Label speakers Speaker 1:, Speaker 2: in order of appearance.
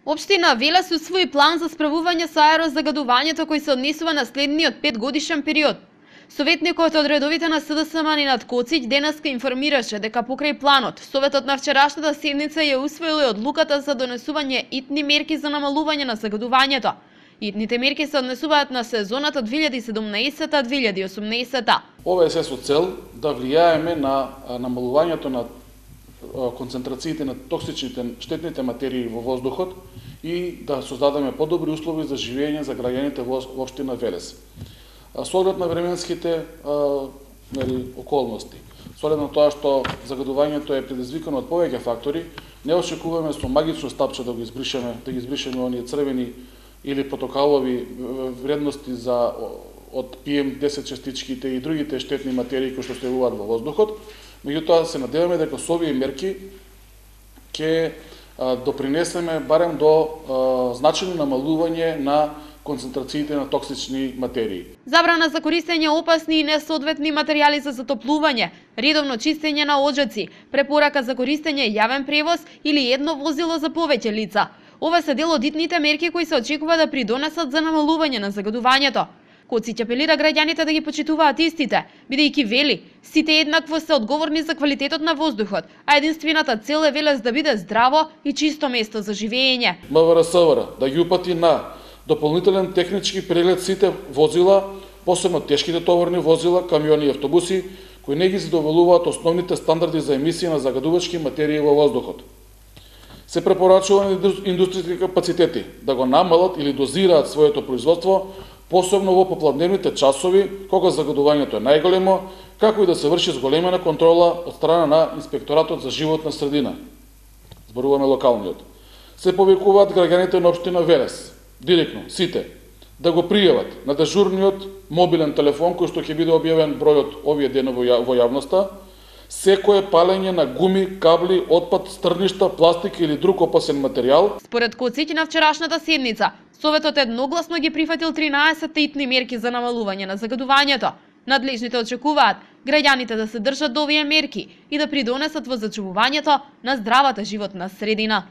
Speaker 1: Општина Велес усвои план за справување со аерозагадувањето кој се однесува на следниот 5-годишен период. Советникот од редовите на СДСМ Нинат Коцич денеска информираше дека покрај планот, Советот на вчерашната седница ја усвоил и одлуката за донесување итни мерки за намалување на загадувањето. Итните мерки се однесуваат на сезоната 2017-2018.
Speaker 2: Ова е се со цел да влијаеме на намалувањето на концентрациите на токсичните штетните материи во воздухот и да создадеме подобри услови за живење за граѓаните во општина Велес. Со оглед на временските околности, со оглед на тоа што загадувањето е предизвикано од повеќе фактори, не очекуваме со магично стапче да ги избришеме оние црвени или протокалови вредности за од PM10 частичките и другите штетни материи кои што се јавуваат во воздухот. Меѓутоа се надеваме дека со овие мерки ќе допринесеме барем до значајно намалување на концентрациите на токсични материи.
Speaker 1: Забрана за користење опасни и несоодветни материјали за затоплување, редовно чистење на оџаци, препорака за користење јавен превоз или едно возило за повеќе лица. Ова се дел од итните мерки кои се очекува да придонесат за намалување на загадувањето. Коцич апелира граѓаните да ги почитуваат истите, бидејќи вели, сите еднакво се одговорни за квалитетот на воздухот, а единствената цел е Велес да биде здраво и чисто место за живење.
Speaker 2: МВР да ги упати на дополнителен технички преглед сите возила, посебно тешките товарни возила, камиони и автобуси, кои не ги задоволуваат основните стандарди за емисија на загадувачки материи во воздухот. Се препорачува на индустријските капацитети да го намалат или дозираат своето производство, посебно во попладневните часови, кога загадувањето е најголемо, како и да се врши зголемена контрола од страна на Инспекторатот за животна средина. Зборуваме локалниот. Се повикуваат граѓаните на општина Велес, директно, сите, да го пријават на дежурниот мобилен телефон, кој што ќе биде објавен бројот овие денови во јавноста, секое палење на гуми, кабли, отпад, стрништа, пластик или друг опасен материјал.
Speaker 1: Според Коцич на вчерашната седница, Советот едногласно ги прифатил 13 итни мерки за намалување на загадувањето. Надлежните очекуваат граѓаните да се држат до овие мерки и да придонесат во зачувувањето на здравата животна средина.